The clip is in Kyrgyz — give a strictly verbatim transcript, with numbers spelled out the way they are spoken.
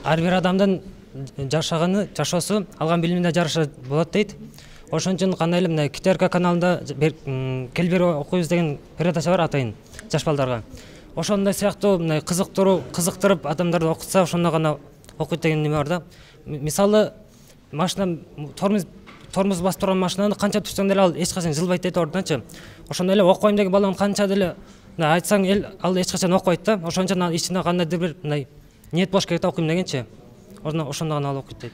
ар бир адамдын жашаганы, жашоосу алган билимине жараша болот дейт. Ошон үчүн кандай эле мына КТРК каналында кел бери окуйбуз деген передача бар атайын жаш балдарга. Ошондой сыяктуу мына кызыктыруу, кызыктырып адамдарды окутса, ошондо гана окуйт деген неме бар да. Мисалы, машина тормоз тормоз басып турган машинаны канча турсаң деле ал эч качан жылбайт дейт ордунчу. Ошондой эле окуйм деген баланы канча деле айтсаң эл ал эч качан окубайт да. Ошон үчүн ичинде кандайдыр бир мындай ниет болуш керек да окуйм дегенчи. Ошондо гана ал окуйт дейт.